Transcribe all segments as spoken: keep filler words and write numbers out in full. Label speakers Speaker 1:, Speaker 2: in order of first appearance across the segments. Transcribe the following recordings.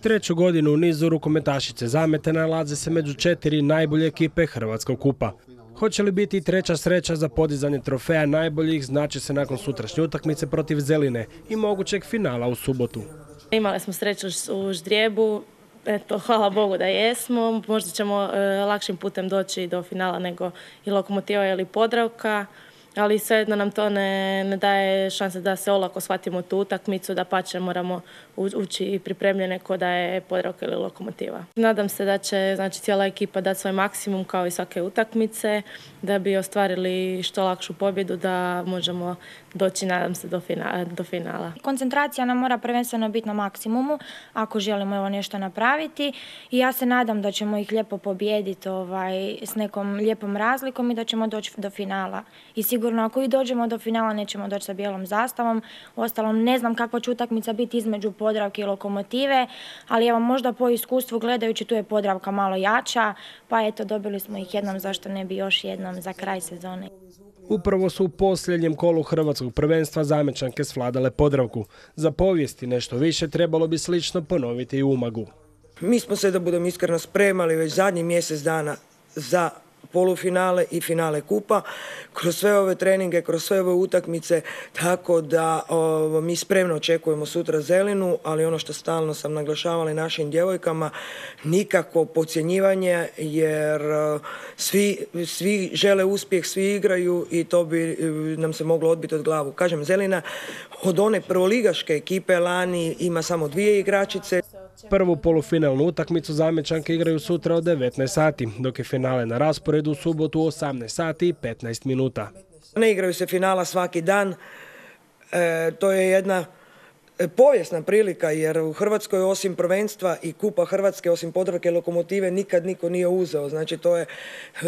Speaker 1: Treću godinu u nizu rukometašice Zamete nalaze se među četiri najbolje ekipe Hrvatskog kupa. Hoće li biti treća sreća za podizanje trofeja najboljih, znači se nakon sutrašnje utakmice protiv Zeline i mogućeg finala u subotu.
Speaker 2: Imali smo sreću u ždrijebu, eto, hvala Bogu da jesmo. Možda ćemo e, lakšim putem doći do finala nego i Lokomotiva ili Podravka, ali svejedno nam to ne, ne daje šanse da se olako shvatimo tu utakmicu, da pače moramo ući i pripremljene ko da je Podravka ili Lokomotiva. Nadam se da će znači, cijela ekipa dati svoj maksimum kao i svake utakmice, da bi ostvarili što lakšu pobjedu, da možemo doći, nadam se, do finala. Do finala.
Speaker 3: Koncentracija nam mora prvenstveno biti na maksimumu ako želimo evo nešto napraviti i ja se nadam da ćemo ih lijepo pobijediti ovaj, s nekom lijepom razlikom i da ćemo doći do finala. I sigurno ako i dođemo do finala nećemo doći sa bijelom zastavom. Uostalom ne znam kakva će utakmica biti između Podravke i Lokomotive, ali evo možda po iskustvu gledajući tu je Podravka malo jača, pa eto dobili smo ih jednom, zašto ne bi još jednom za kraj sezone.
Speaker 1: Upravo su u posljednjem kolu hrvatskog prvenstva Zamečanke svladale Podravku. Za povijesti nešto više trebalo bi slično ponoviti i u Umagu.
Speaker 4: Mi smo se, da budem iskreno, spremali već zadnji mjesec dana za polufinale i finale kupa, kroz sve ove treninge, kroz sve ove utakmice, tako da o, mi spremno očekujemo sutra Zelinu, ali ono što stalno sam naglašavala i našim djevojkama, nikakvo podcjenjivanje, jer o, svi, svi žele uspjeh, svi igraju i to bi nam se moglo odbiti od glavu. Kažem, Zelina od one prvoligaške ekipe lani ima samo dvije igračice.
Speaker 1: Prvu polufinalnu utakmicu Zamečanke igraju sutra od devetnaest sati, dok je finale na rasporedu u subotu u osamnaest sati i petnaest minuta.
Speaker 4: Ne igraju se finala svaki dan, e, to je jedna povijesna prilika jer u Hrvatskoj osim prvenstva i Kupa Hrvatske, osim Podravke i Lokomotive, nikad niko nije uzeo. Znači to je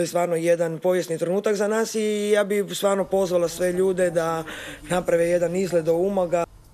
Speaker 4: stvarno jedan povijesni trenutak za nas i ja bih stvarno pozvala sve ljude da naprave jedan izlet do Umaga.